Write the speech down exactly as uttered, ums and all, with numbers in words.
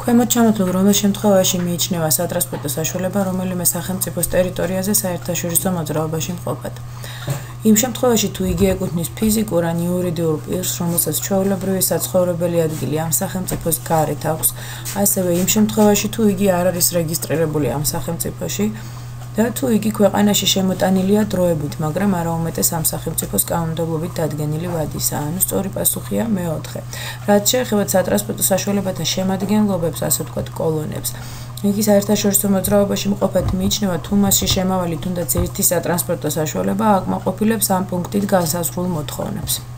ქვემოთ ჩამოთვლილ რომელ შემთხვევაში მიიჩნევა სატრანსპორტო საშუალება რომელიმე სახელმწიფოს ტერიტორიაზე საერთაშორისო მოძრაობაში მყოფად. იმ შემთხვევაში თუ იგი ეკუთვნის ფიზიკურ ან იურიდიულ პირს, რომელსაც ჩვეულებრივი საცხოვრებელი ადგილი ამ სახელმწიფოს გარეთ აქვს, ასევე იმ შემთხვევაში თუ იგი არ არის რეგისტრირებული ამ სახელმწიფოში და თუ იგი ქვეყანაში შემოტანილია დროებით, მაგრამ არაუმეტეს ამ სახელმწიფოს კანონმდებლობით დადგენილი ვადისაა. ანუ სწორი პასუხია მეოთხე. რაც შეეხება სატრანსპორტო საშუალებათა შემადგენლობებს, ასე ვთქვათ, კოლონებს. იგი საერთაშორისო მოძრაობაში მყოფად მიიჩნევა თუ მასში შემავალი თუნდაც ერთი სატრანსპორტო საშუალება აკმაყოფილებს ამ პუნქტით განსაზღვრულ მოთხოვნებს.